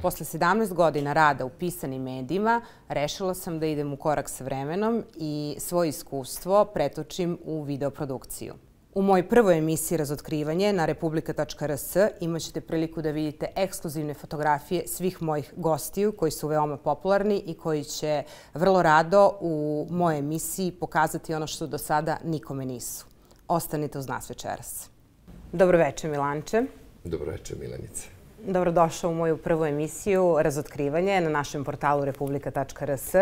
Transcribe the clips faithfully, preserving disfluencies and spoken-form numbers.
Posle sedamnaest godina rada u pisanim medijima, rešila sam da idem u korak sa vremenom i svoje iskustvo pretočim u videoprodukciju. U mojoj prvoj emisiji Razotkrivanje na republika tačka r s imat ćete priliku da vidite ekskluzivne fotografije svih mojih gostiju koji su veoma popularni i koji će vrlo rado u mojoj emisiji pokazati ono što do sada nikome nisu. Ostanite uz nas večeras. Dobroveče, Milanče. Dobroveče, Milanice. Dobrodošao u moju prvu emisiju Razotkrivanje na našem portalu republika tačka r s.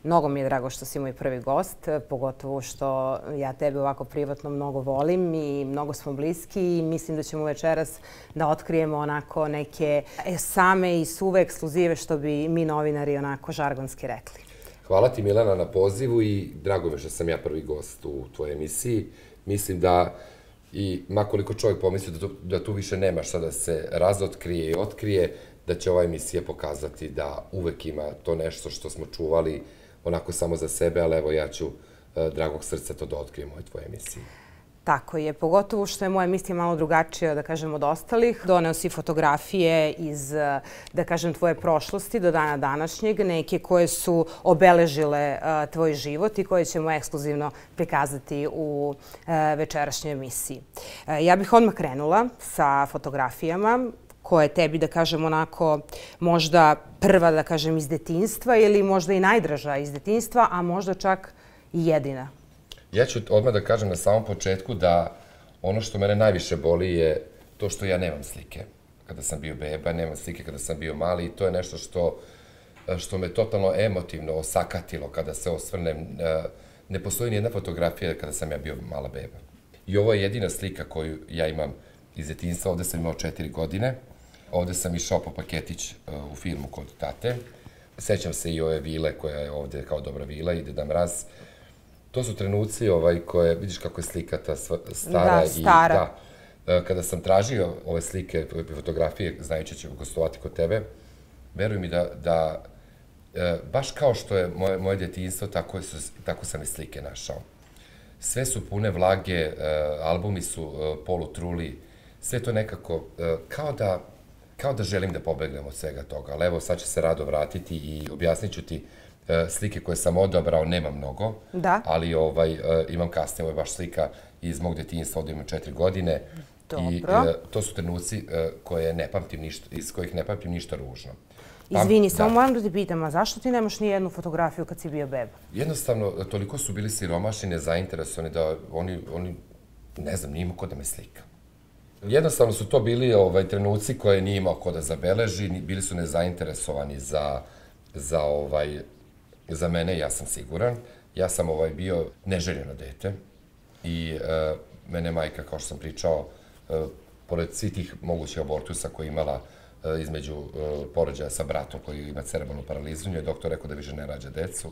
Mnogo mi je drago što si moj prvi gost, pogotovo što ja tebe ovako privatno mnogo volim i mnogo smo bliski i mislim da ćemo večeras da otkrijemo onako neke same i suve ekskluzive što bi mi novinari onako žargonski rekli. Hvala ti, Milana, na pozivu i drago mi je što sam ja prvi gost u tvojoj emisiji. Mislim da i makoliko čovjek pomisli da tu više nema šta da se razotkrije i otkrije, da će ova emisija pokazati da uvek ima to nešto što smo čuvali onako samo za sebe, ali evo ja ću dragog srca to da otkrijem u ovoj tvojoj emisiji. Tako je, pogotovo što je moja emisija malo drugačija, da kažem, od ostalih. Doneo si fotografije iz, da kažem, tvoje prošlosti do dana današnjeg, neke koje su obeležile tvoj život i koje ćemo ekskluzivno prikazati u večerašnjoj emisiji. Ja bih odmah krenula sa fotografijama koja je tebi, da kažem, onako možda prva, da kažem, iz detinjstva ili možda i najdraža iz detinjstva, a možda čak i jedina. Ja ću odmah da kažem na samom početku da ono što mene najviše boli je to što ja nemam slike kada sam bio beba, nemam slike kada sam bio mali i to je nešto što, što me totalno emotivno osakatilo kada se osvrnem. Ne postoji nijedna fotografija kada sam ja bio mala beba. I ovo je jedina slika koju ja imam iz detinjstva. Ovde sam imao četiri godine. Ovde sam išao po paketić u firmu kod tate. Sećam se i ove vile koja je ovde kao dobra vila i Deda Mraz. To su trenuci koje, vidiš kako je slika ta stara. Da, stara. Kada sam tražio ove slike, ove fotografije, znajući ću gostovati kod tebe, veruj mi da baš kao što je moje djetinjstvo, tako sam i slike našao. Sve su pune vlage, albumi su polutruli, sve to nekako kao da želim da pobegnem od svega toga. Ali evo, sad će se rado vratiti i objasnit ću ti slike koje sam odabrao, nema mnogo, ali imam kasnije, ovo je baš slika iz mog detinjstva, ovdje imam četiri godine i to su trenuci iz kojih ne pamtim ništa ružno. Izvini, samo moram da ti pitam, a zašto ti nemaš ni jednu fotografiju kad si bio beba? Jednostavno, toliko su bili siromašni, nezainteresovani da oni, ne znam, nije imao ko da me slika. Jednostavno su to bili trenuci koje nije imao ko da zabeleži, bili su nezainteresovani za mene, ja sam siguran. Ja sam bio neželjeno dete i mene majka, kao što sam pričao, pored svih tih mogućih abortusa koje je imala između porođaja sa bratom koji ima cerebralnu paralizu, njoj je doktor rekao da više ne rađa decu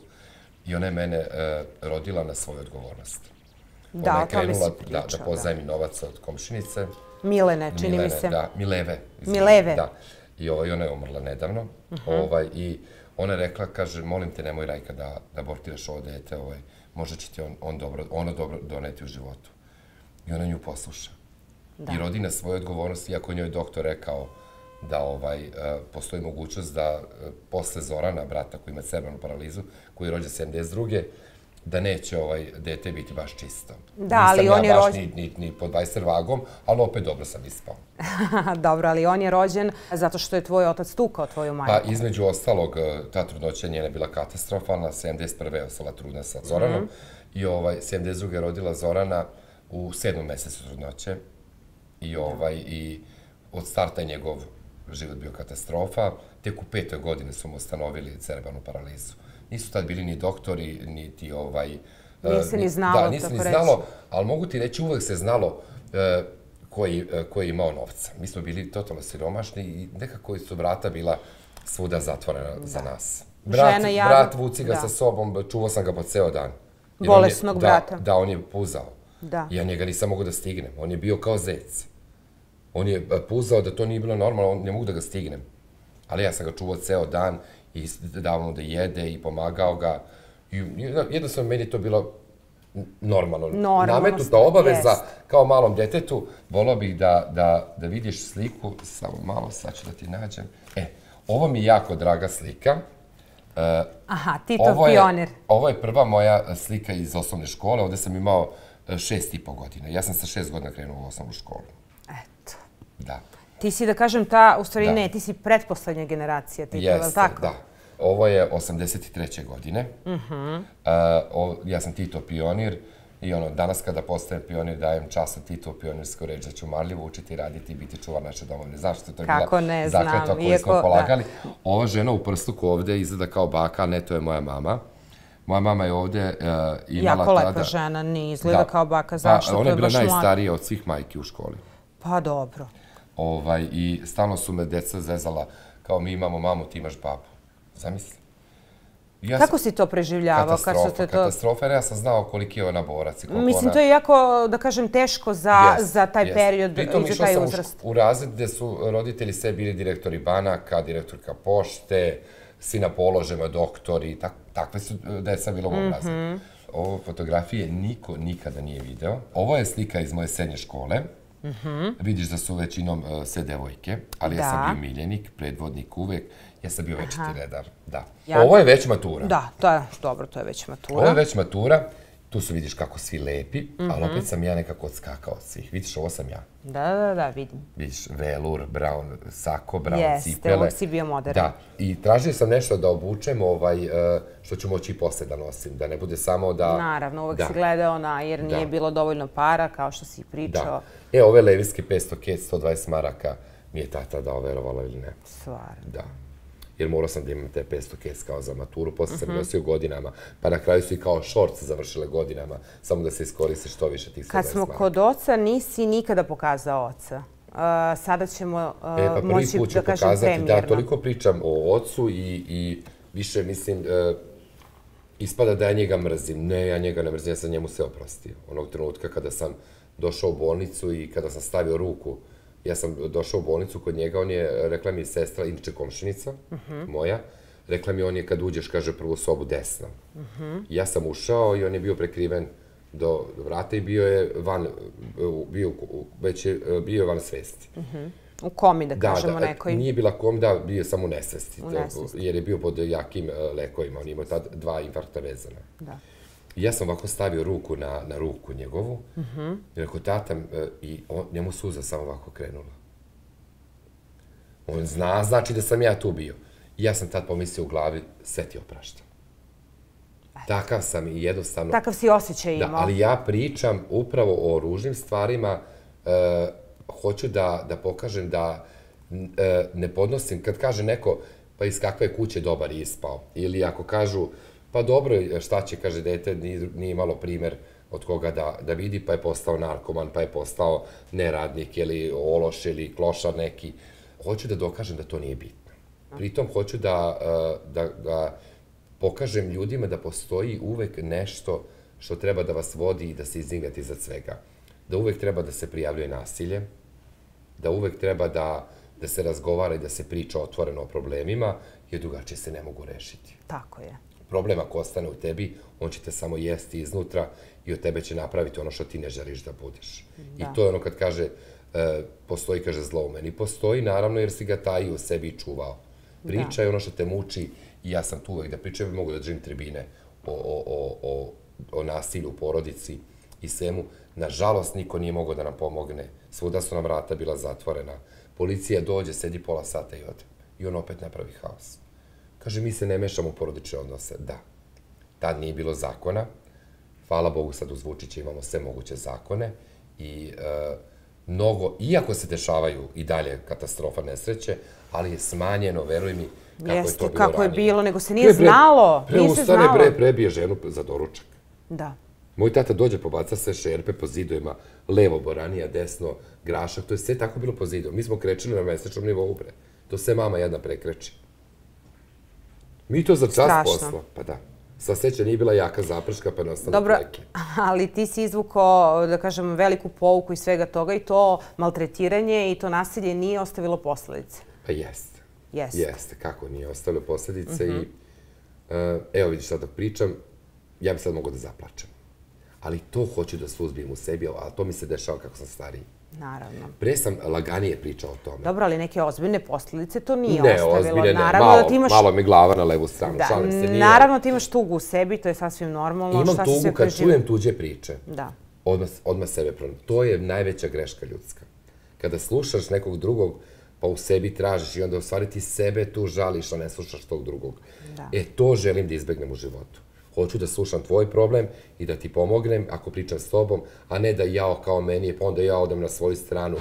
i ona je mene rodila na svoju odgovornost. Da, o tome si pričao. Da pozajmi novac od komšinice. Milene, čini mi se. Da, Mileve. Mileve. Da, i ona je umrla nedavno i ona je rekla, kaže, molim te, nemoj Rajka da abortiraš ovo dete, možda će ti ono dobro doneti u životu. I ona nju posluša. I rodi na svoju odgovornost, iako njoj je doktor rekao da postoji mogućnost da posle Zorana, brata koji ima cerebralnu paralizu, koji je rođen sedamdeset druge da neće dete biti baš čisto. Da, ali on je rođen... Nisam ja baš ni pod vajser vagom, ali opet dobro sam ispao. Dobro, ali on je rođen zato što je tvoj otac tukao tvoju majku. Pa, između ostalog, ta trudnoća njena je bila katastrofalna. sedamdeset prve je ostala trudna sa Zoranom i sedamdeset druge je rodila Zorana u sedmom mesecu trudnoće i od starta je njegov život bio katastrofa. Tek u petoj godini su mu ustanovili cerebralnu paralizu. Nisu tad bili ni doktori, niti ovaj... Nije se ni znalo, tako reći. Da, nije se ni znalo, ali mogu ti reći, uvek se znalo ko je imao novca. Mi smo bili totalno siromašni i nekako su vrata bila svuda zatvorena za nas. Brat vuci ga sa sobom, čuvao sam ga po ceo dan. Bolesnog brata. Da, on je puzao. Ja njega nisam mogao da stignem. On je bio kao zec. On je puzao da to nije bilo normalno, ne mogu da ga stignem. Ali ja sam ga čuvao ceo dan i dao mu da jede i pomagao ga. Jednostavno, meni je to bilo normalno. Nametnuta obaveza kao malom detetu. Volao bih da vidiš sliku, samo malo, sad ću da ti nađem. E, Ovo mi je jako draga slika. Aha, Titov pionir. Ovo je prva moja slika iz osnovne škole. Ovde sam imao šest i po godina. Ja sam sa šest godina krenuo u osnovnu školu. Eto. Da. Ti si, da kažem, ta, u stvari ne, ti si pretposlednja generacija Titova, je li tako? Jeste, da. Ovo je osamdeset treće godine. Ja sam Tito pionir i ono, danas kada postajem pionir dajem časno Tito pionirsku reč da ću marljivo učiti, raditi i biti čuvar naše domovine. Zašto? To je bila zakletva koju smo polagali. Ova žena u prstuku ovde izgleda kao baka, ne, to je moja mama. Moja mama je ovde imala tada... Jako lepa žena, nije izgleda kao baka. Zašto? Ona je bila najstarija od svih majki u školi. Pa dobro. I stalno su me deca zezala kao mi imamo mamu, ti imaš babu. Zamisli. Kako si to preživljavao? Katastrofa, katastrofa, jer ja sam znao koliki je ona borac. Mislim, to je jako, da kažem, teško za taj period i za taj uzrast. Pritom išla sam u razred gde su roditelji sve bili direktori banaka, direktorka pošte, svi na položajima, doktori, takve su deca bilo u ovom razredu. Ovo fotografije niko nikada nije video. Ovo je slika iz moje srednje škole. Vidiš da su većinom sve devojke, ali ja sam bio miljenik, predvodnik uvek. Ja sam bio večiti redar, da. Ovo je već matura. Da, to je dobro, to je već matura. Ovo je već matura. Tu su vidiš kako svi lepi, ali opet sam ja nekako odskakao od svih. Vidiš, ovo sam ja. Da, da, da, vidim. Vidiš, velur, brown sako, brown cipele. Jeste, uvijek si bio modern. Da, i tražio sam nešto da obučem, što ću moći i posle da nosim, da ne bude samo da... Naravno, uvijek si gledao na, jer nije bilo dovoljno para, kao što si pričao. Da. E, ove levijske petsto kec, sto dvadeset maraka, mi je tata dao, verovala ili ne. Stvarno. Da. Jer morao sam da imam te petsto kec kao za maturu, posle sam nosio godinama, pa na kraju su i kao šorc završile godinama, samo da se iskoriste što više tih sto dvadeset maraka. Kad smo kod oca, nisi nikada pokazao oca. Sada ćemo moći da kažem premijerno. Da, toliko pričam o ocu i više, mislim, ispada da ja njega mrzim. Ne, ja njega ne mrzim, ja sam njemu sve oprostio. Onog trenutka kada sam došao u bolnicu i kada sam stavio ruku, ja sam došao u bolnicu kod njega, on je, rekla mi je sestra, inače komšinica moja, rekla mi on je kad uđeš, kaže, prvu sobu desno. Ja sam ušao i on je bio prekriven do vrata i bio je van, već je bio van svesti. U komi, da kažemo nekoj. Nije bila kom, da, bio je samo u nesvesti, jer je bio pod jakim lekovima, on imao tad dva infarkta vezana. Da. Ja sam ovako stavio ruku na ruku njegovu i rekao tata, i njemu suza samo ovako krenula. On zna, znači da sam ja tu bio. I ja sam tad pomislio u glavi, sve ti opraštam. Takav sam i jednostavno... Takav si osjećaj imao. Da, ali ja pričam upravo o ružnim stvarima, hoću da pokažem da ne podnosim, kad kaže neko, pa iz kakve kuće dobar ispao, ili ako kažu, pa dobro, šta će, kaže, dete nije imalo primer od koga da vidi, pa je postao narkoman, pa je postao neradnik, ili ološ, ili klošar neki. Hoću da dokažem da to nije bitno. Pritom hoću da pokažem ljudima da postoji uvek nešto što treba da vas vodi i da se izdignete iznad svega. Da uvek treba da se prijavljuje nasilje, da uvek treba da se razgovara i da se priča otvoreno o problemima, jer drugačije se ne mogu rešiti. Tako je. Problem ako ostane u tebi, on će te samo jesti iznutra i od tebe će napraviti ono što ti ne želiš da budeš. I to je ono kad kaže, postoji, kaže, zlo u meni. Postoji, naravno, jer si ga taji u sebi i čuvao. Priča je ono što te muči i ja sam tu uvek da pričam, mogu da držim tribine o nasilju u porodici i svemu. Nažalost, niko nije mogao da nam pomogne. Svuda su nam vrata bila zatvorena. Policija dođe, sedi pola sata i ode. I on opet napravi haos. Kaže, mi se ne mešamo u porodične odnose. Da. Tad nije bilo zakona. Hvala Bogu, sad uz Vučića imamo sve moguće zakone. I mnogo, iako se dešavaju i dalje katastrofa, nesreće, ali je smanjeno, veruj mi, kako je to bilo ranije. Jeste, kako je bilo, nego se nije znalo. Preustane, bre, prebije ženu za doručak. Da. Moj tata dođe, pobaca sve šerpe po zidovima, levo boranija, desno grašak, to je sve tako bilo po zidu. Mi smo krećili na mesečnom nivou, bre. To sve mama jedna prekreći. Mi to za čas posla. Pa da. Sva sreća nije bila jaka zaprška, pa ne ostane pleke. Dobro, ali ti si izvukao, da kažem, veliku pouku iz svega toga i to maltretiranje i to nasilje nije ostavilo posledice. Pa jeste. Jeste. Jeste, kako nije ostavilo posledice i evo vidiš sad dok pričam, ja bi sad mogao da zaplačem. ali to hoću da suzbijem u sebi, a to mi se dešava kako sam stariji. Naravno. Pre sam laganije pričao o tome. Dobro, ali neke ozbiljne posljedice to nije ne, ostavilo. Ozbiljne, ne, naravno, malo, da ti imaš... malo mi glava na levu stranu, da, šalim se. Nije... Naravno ti imaš tugu u sebi, to je sasvim normalno. Imam šta tugu kad čujem tuđe priče. Da. Odmah, odmah sebe pronaći. To je najveća greška ljudska. Kada slušaš nekog drugog, pa u sebi tražiš i onda u stvari ti sebe tu žališ, a ne slušaš tog drugog. Da. E, to želim da izbegnem u životu. Hoću da slušam tvoj problem i da ti pomognem ako pričam s tobom, a ne da jao kao meni je, pa onda ja odem na svoju stranu.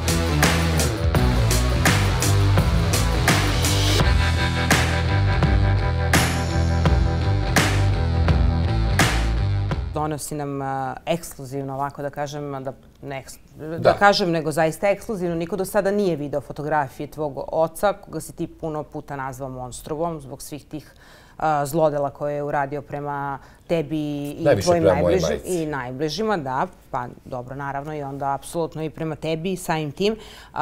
Donosi nam uh, ekskluzivno, ovako da kažem, da, ne, da. da kažem, nego zaista ekskluzivno. Niko do sada nije video fotografije tvog oca, koga si ti puno puta nazvao monstruom zbog svih tih uh, zlodela koje je uradio prema tebi i najviše tvojim prema najbližim, i najbližima, da, pa dobro, naravno i onda apsolutno i prema tebi i samim tim. Uh,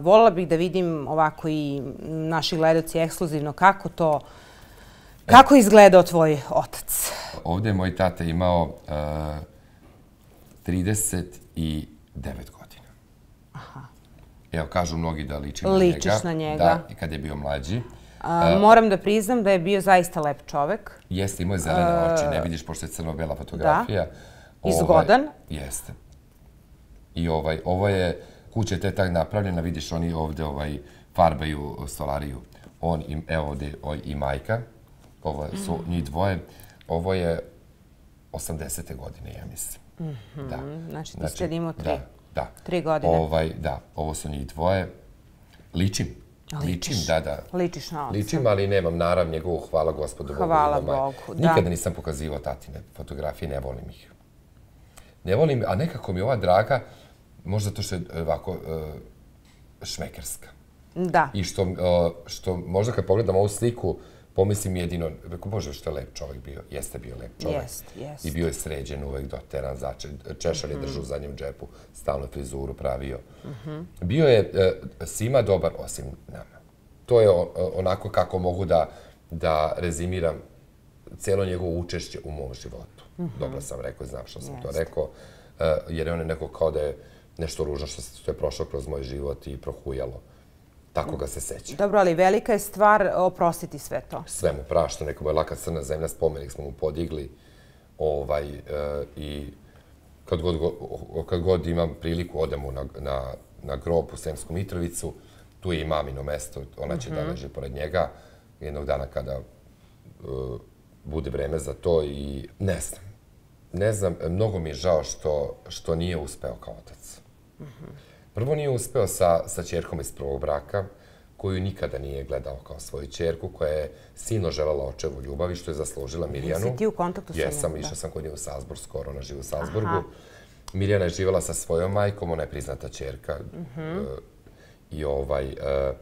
voljela bih da vidim ovako i naši gledaoci ekskluzivno kako to, kako je izgledao tvoj otac. Ovdje je moj tata imao uh, trideset devet godina. Aha. Evo, kažu mnogi da ličim na njega. Ličiš na njega. Da, i kad je bio mlađi. A, uh, moram da priznam da je bio zaista lep čovek. Jeste, imao je zelene oči, ne vidiš, pošto je crno-bela fotografija. Da. I zgodan. Ovaj, jeste. I ovaj, ovo je kuća te tak napravljena, vidiš, oni ovdje ovaj, farbaju stolariju. On, i, evo ovdje i majka. Ovo su njih dvoje. Ovo je osamdesete godine, ja mislim. Mm-hmm. Da. Znači, ti znači, ste imao tri, da, da. tri godine. Ovaj, da, ovo su njih dvoje. Ličim. Ličiš. Ličim, da, da. Ličiš na oca. Ličim, ali nemam narav njegovu, hvala Gospodu Bogu. Hvala Bogu, da. Nikada nisam pokazivao tatine fotografije, ne volim ih. Ne volim, a nekako mi ova draga, možda to što je ovako uh, šmekerska. Da. I što, uh, što možda kad pogledam ovu sliku, pomislim jedino, rekao, Bože, što je lep čovjek bio. Jeste bio lep čovjek. Jest, jest. I bio je sređen, uvek doteran, začet, češalj je držao u zadnjem džepu, stalno frizuru pravio. Mm-hmm. Bio je uh, svima dobar, osim nama. To je on, onako kako mogu da, da rezimiram cijelo njegovo učešće u mom životu. Mm-hmm. Dobro sam rekao, znam što sam yes. to rekao, uh, jer je on neko kao da je nešto ružno što, što je prošlo kroz moj život i prohujalo. Tako ga se seća. Dobro, ali velika je stvar oprostiti sve to. Sve mu prašta, neko mu je laka crna zemlja, spomenik smo mu podigli. Ovaj, uh, I kad god, kad god imam priliku, odemo na, na, na grob u Sremsku Mitrovicu, tu je i mamino mesto, ona će mm-hmm. da leži pored njega. Jednog dana kada uh, bude vreme za to i ne znam. Ne znam, mnogo mi je žao što, što nije uspeo kao otac. Mm-hmm. Prvo nije uspeo sa, sa ćerkom iz prvog braka, koju nikada nije gledao kao svoju ćerku, koja je silno želela očevu ljubavi, što je zaslužila Mirjanu. Jesi ti u kontaktu sa njom? Jesam, išao sam kod nje u Salzburg, skoro ona živi u Salzburgu. Aha. Mirjana je živjela sa svojom majkom, ona je priznata ćerka. Mm-hmm. uh, I ovaj, uh,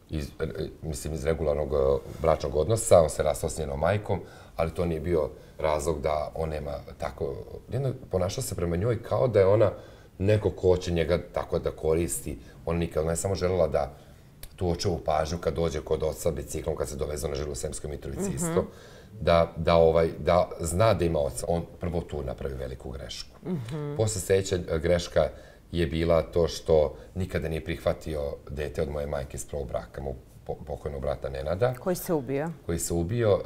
iz, uh, mislim, iz regularnog uh, bračnog odnosa, on se rastao s njenom majkom, ali to nije bio razlog da on nema tako... Jedno, ponašao se prema njoj kao da je ona neko ko će njega tako da koristi. Ona nikad, ona je samo želela da tu očevu pažnju kad dođe kod oca biciklom, kad se dovezu na žilu u Sremskoj Mitrovici mm-hmm. isto, da, da, ovaj, da zna da ima oca. On prvo tu napravi veliku grešku. Mm-hmm. Posle sljedeća greška je bila to što nikada nije prihvatio dete od moje majke iz prvog braka, mog pokojnog brata Nenada. Koji se ubio. Koji se ubio,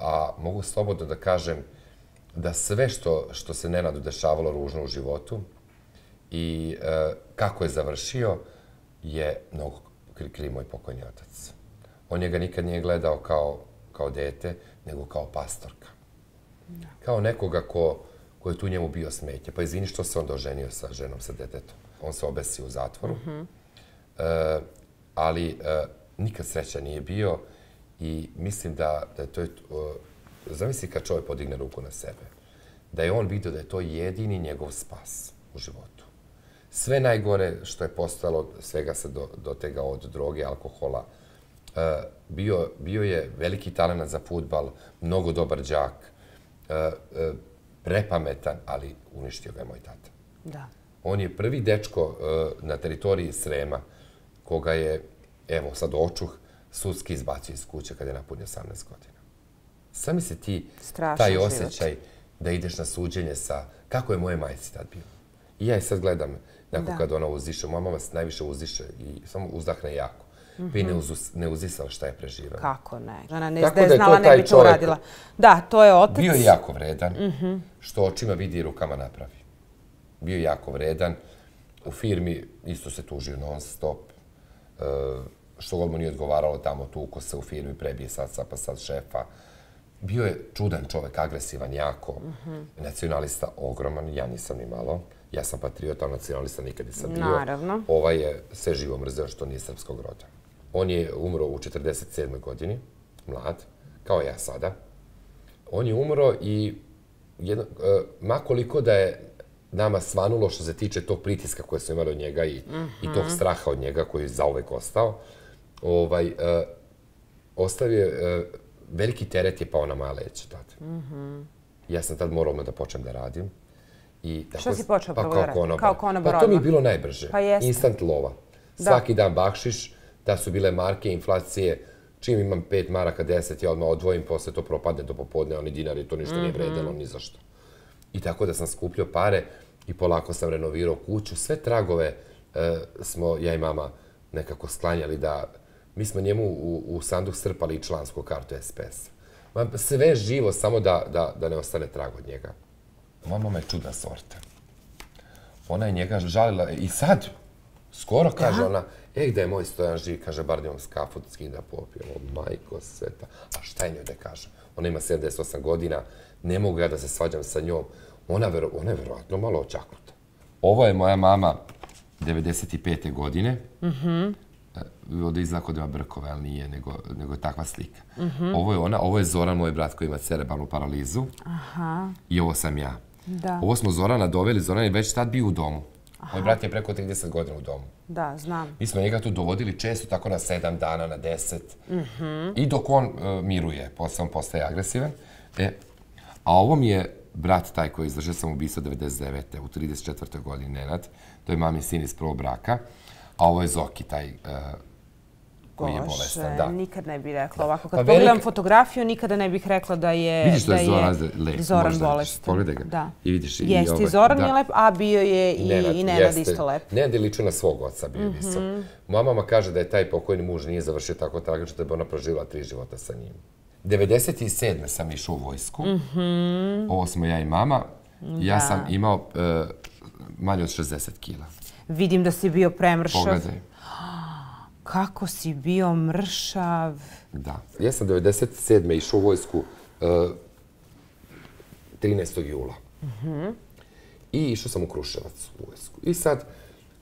a mogu slobodno da kažem da sve što, što se Nenadu dešavalo ružno u životu i kako je završio je mnogo kriv moj pokojni otac. On njega nikad nije gledao kao, kao dete, nego kao pastorka. No. Kao nekoga ko, ko je tu njemu bio smetje. Pa izvini što se on doženio sa ženom, sa detetom. On se obesio u zatvoru. Mm-hmm. e, ali e, nikad sreća nije bio i mislim da, da to je... O, zamisli kad čovjek podigne ruku na sebe. Da je on vidio da je to jedini njegov spas u životu. Sve najgore što je postalo, svega se do, dotega od droge, alkohola. E, bio, bio je veliki talent za fudbal, mnogo dobar đak, e, e, prepametan, ali uništio ga je moj tata. Da. On je prvi dečko e, na teritoriji Srema, koga je, evo sad očuh, sudski izbacio iz kuće kada je napunio osamnaest godina. Sami se ti, strašan taj život. osjećaj, da ideš na suđenje sa... Kako je moje majci tad bilo? I ja je sad gledam, nakon kad ona uzdiše, moja mama se najviše uzdiše i samo uzdahne jako. Pa i ne uzisala šta je preživela. Kako ne? Ona ne da je znala, ne bi to uradila. Da, to je otac. Bio je jako vredan, što očima vidi i rukama napravi. Bio je jako vredan. U firmi isto se tužio non stop. Što god mu nije odgovaralo tamo, tuko se u firmi, prebije sad, pa sad šefa. Bio je čudan čovek, agresivan jako. Nacionalista ogroman, ja nisam ni malo. Ja sam patriot, ali nacionalista nikad nisam bio. Naravno. Ovaj je sve živo mrzeo što nije srpskog roda. On je umro u četrdeset sedmoj godini, mlad, kao ja sada. On je umro i ma koliko da je nama svanulo što se tiče tog pritiska koje smo imali od njega i tog straha od njega koji je zauvek ostao, ostavio veliki teret je pao na moja leđa tad. Ja sam tad morao da počnem da radim. Što si počeo prvo da radim? Kao konobar odmah? Pa to mi je bilo najbrže. Instant lova. Svaki dan bakšiš, da su bile marke, inflacije. Čim imam pet maraka, deset, ja odmah odvojim, posle to propadne do popodne, oni dinari, to ništa nije vredelo, ni za što. I tako da sam skupljao pare i polako sam renovirao kuću. Sve tragove smo, ja i mama, nekako sklanjali da... Mi smo njemu u sanduk strpali i člansku kartu es pe es-a. Sve živo, samo da ne ostane trag od njega. Moja mama je čudna sorta. Ona je njega žalila i sad, skoro kaže ona, e, gde je moj Stojan živ, kaže, bar da imam skafu, skin da popijem, o, majko sveta. A šta je njoj da kaže? Ona ima sedamdeset osam godina, ne mogu ja da se svađam sa njom. Ona je verovatno malo očaknuta. Ovo je moja mama devedeset pete godine. Ovdje izgleda kod ima brkove, ali nije, nego je takva slika. Ovo je ona, ovo je Zoran, moj brat koji ima cerebralnu paralizu. I ovo sam ja. Ovo smo Zorana doveli, Zoran je već tad bio u domu. Moj brat je preko trideset godina u domu. Da, znam. Mi smo njega tu dovodili često, tako na sedam dana, na deset. I dok on miruje, posle on postaje agresivan. A ovo mi je brat taj koji je izvršio samoubistvo devedeset devete u trideset četvrtoj godini, Nenad. To je mami sin iz prvog braka. A ovo je Zoki, taj koji je bolestan. Bože, nikad ne bih rekla ovako. Kad pogledam fotografiju, nikada ne bih rekla da je Zoran bolestan. Pogledaj ga i vidiš i ovaj. Jeste i Zoran je lep, a bio je i Nenad isto lep. Nenad je ličio na svog oca, bio visok. Moja mama kaže da je taj pokojni muž nije završio tako tragično da bi ona proživjela tri života sa njim. devedeset sedme sam išao u vojsku. Ovo smo ja i mama. Ja sam imao manje od šezdeset kila. Vidim da si bio premršav. Pogledaj. Kako si bio mršav. Da. Ja sam devedeset sedme išao u vojsku trinaestog jula. I išao sam u Kruševac u vojsku. I sad,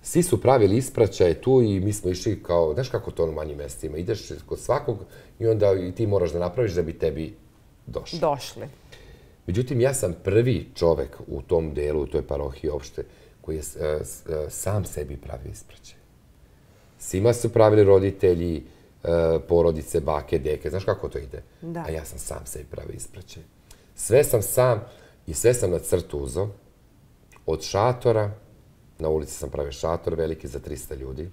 svi su pravili ispraćaje tu i mi smo išli kao, znaš kako to u manjim mestima, ideš kod svakog i onda i ti moraš da napraviš da bi tebi došli. Došli. Međutim, ja sam prvi čovek u tom delu, u toj parohiji opšte, koji je sam sebi pravio ispraćaj. Svima su pravili roditelji, porodice, bake, deke. Znaš kako to ide? A ja sam sam sebi pravio ispraćaj. Sve sam sam i sve sam na crtu uzao. Od šatora, na ulici sam pravio šator veliki za trista ljudi,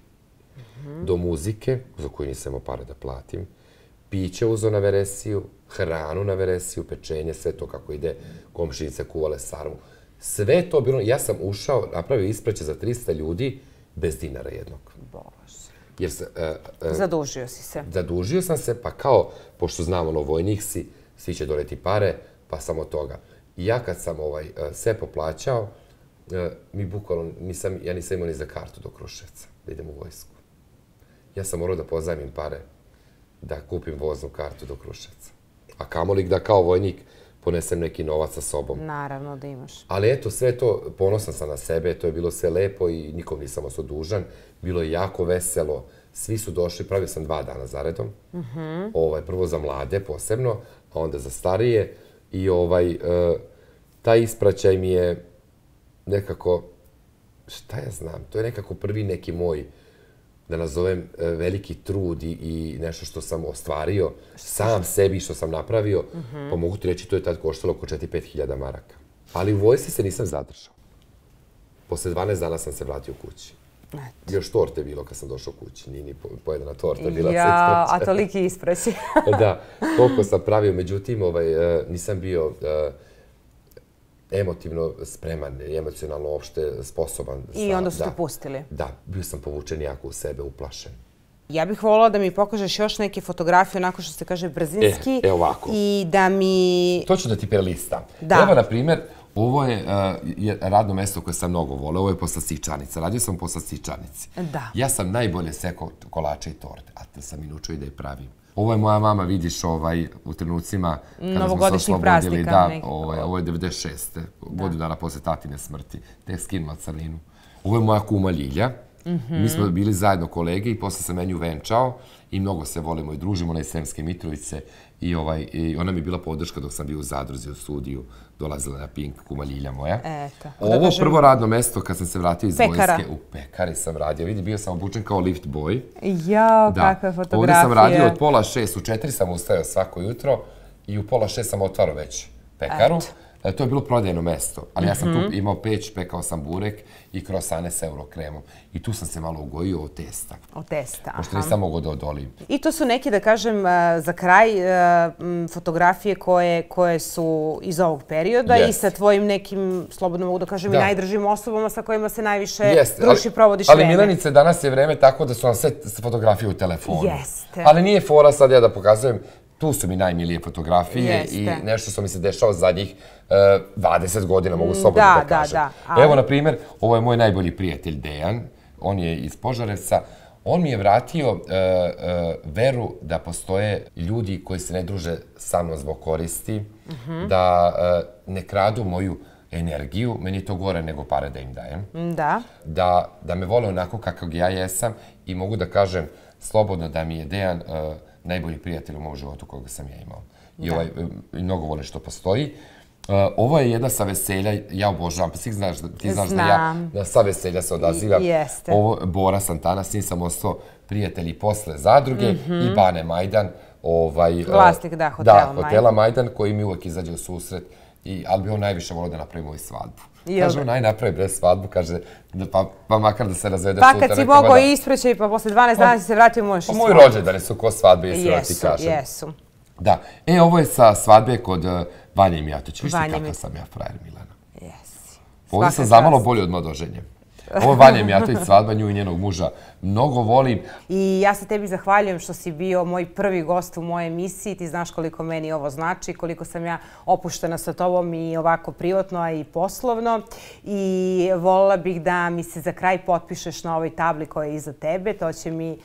do muzike, za koju nisam imao para da platim, piće uzao na veresiju, hranu na veresiju, pečenje, sve to kako ide, komšinice kuvale sarmu. Sve to bilo, ja sam ušao, napravio ispraćaj za trista ljudi bez dinara jednog. Bože. Zadužio si se. Zadužio sam se, pa kao, pošto znam ono, vojnik si, svi će doneti pare, pa samo toga. I ja kad sam sve poplaćao, mi bukvalno, ja nisam imao ni za kartu do Kruševca, da idem u vojsku. Ja sam morao da pozajmim pare, da kupim voznu kartu do Kruševca. A kamoli da kao vojnik ponesem neki novac sa sobom. Naravno da imaš. Ali eto, sve to, ponosan sam na sebe, to je bilo sve lepo i nikom nisam ostao dužan. Bilo je jako veselo, svi su došli, pravio sam dva dana zaredom. Prvo za mlade posebno, a onda za starije. I taj ispraćaj mi je nekako, šta ja znam, to je nekako prvi neki moj, da nazovem, veliki trud i nešto što sam ostvario, sam sebi što sam napravio, pa mogu ti reći, to je tad koštalo oko četiri do pet hiljada maraka. Ali u vojsci se nisam zadržao. Posle dvanaest dana sam se vratio kući. Još torte bilo kad sam došao kući, nije ni pojedana torta bila. Ja, a toliki ispraćaj. Da, toliko sam pravio, međutim, nisam bio... emotivno spreman i emocionalno uopšte sposoban. I onda su te pustili? Da, bio sam povučen jako u sebe, uplašen. Ja bih voljela da mi pokažeš još neke fotografije, onako što se kaže brzinski. E, e ovako. I da mi... To ću da ti prelistam. Da. Evo, na primjer, ovo je uh, radno mesto koje sam mnogo voleo. Ovo je poslastičarnica. Radio sam u poslastičarnici. Da. Ja sam najbolje sekao kolače i torte, a to sam i naučio i da je pravim. Ovo je moja mama, vidiš, ovaj, u trenucima kada smo se oslobodili. Da, ovaj, ovo je devedeset šeste godinu dana posle tatine smrti. Tek skinula crninu. Ovo je moja kuma Ljilja. Mi smo bili zajedno kolege i posle sam menju venčao i mnogo se volimo i družimo, ona iz Sremske Mitrovice i, ovaj, i ona mi je bila podrška dok sam bio u zadruzi u studiju, dolazila na Pink, kuma Ljilja moja. Eto. Ovo prvo radno mesto kad sam se vratio iz vojske, u pekari sam radio, vidi, bio sam obučen kao lift boy. Jao, kakve fotografije. Ovdje sam radio od pola šest, u četiri sam ustajao svako jutro i u pola šest sam otvarao već pekaru. To je bilo prodajno mesto, ali ja sam tu imao peć, pekao sam burek i krosane s eurokremom. I tu sam se malo ugojio od testa. Od testa, aha. Pošto nisam mogao da odolim. I to su neki, da kažem, za kraj fotografije koje su iz ovog perioda i sa tvojim nekim, slobodno mogu da kažem, i najdržim osobama sa kojima se najviše druži i provodiš vreme. Ali Milanice, danas je vreme tako da su vam sve fotografije u telefonu. Jeste. Ali nije fora sad ja da pokazujem. Tu su mi najmilije fotografije i nešto što mi se dešava zadnjih dvadeset godina, mogu slobodno da kažem. Evo, na primjer, ovo je moj najbolji prijatelj Dejan, on je iz Požarevca. On mi je vratio veru da postoje ljudi koji se ne druže sa mnom zbog koristi, da ne kradu moju energiju, meni je to gore nego pare da im dajem. Da. Da me vole onako kakav ja jesam i mogu da kažem slobodno da mi je Dejan najbolji prijatelj u mom životu koga sam ja imao. I mnogo volim što postoji. Ovo je jedna sa veselja, ja obožavam, pa ti znaš da ja na sa veselja se odazivam. Ovo je Bora Santana, s njim sam ostao prijatelji posle zadruge i Bane Majdan. Vlasnik, da, hotela Majdan. Da, hotela Majdan koji mi uvek izađe u susret, ali bi on najviše volio da napravi moju svadbu. Kaže, on naj napravi bre svadbu, kaže, pa makar da se razvede sutra. Pa kad si mogao ispreći, pa posle dvanaest dana si se vratio, možeš i svadbu. Moji rođendani su ko svadbe, jesi da ti kažem. Jesu, jesu. Da. E, ovo je sa svadbe kod Vanje Mijatović. Viš ti kakav sam ja frajer, Milana? Jesi. Ovdje sam zamalo bolji od Mladoženje. Ovo je Vanja Mijatović, svadba, nju i njenog muža mnogo volim. I ja se tebi zahvaljujem što si bio moj prvi gost u mojoj emisiji. Ti znaš koliko meni ovo znači, koliko sam ja opuštena sa tobom i ovako privatno, a i poslovno. I volila bih da mi se za kraj potpišeš na ovoj tabli koja je iza tebe. To će mi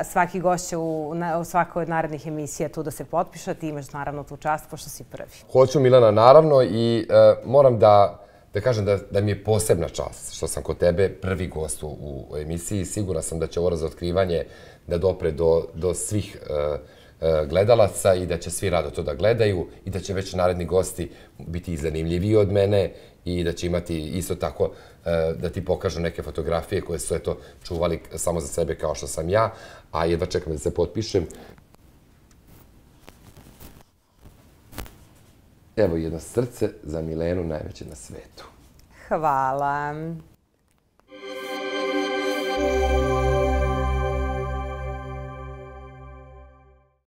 svaki gost će u svakoj od narednih emisija tu da se potpiša. Ti imaš naravno tu čast, pošto si prvi. Hoću, Milana, naravno, i moram da da kažem da mi je posebna čast što sam kod tebe prvi gost u emisiji. Sigurna sam da će ovo razotkrivanje da dopre do svih gledalaca i da će svi rado to da gledaju i da će već naredni gosti biti i zanimljiviji od mene i da će imati isto tako da ti pokažu neke fotografije koje su eto čuvali samo za sebe kao što sam ja, a jedva čekam da se potpišem. Evo jedno srce za Milenu, najveće na svetu. Hvala.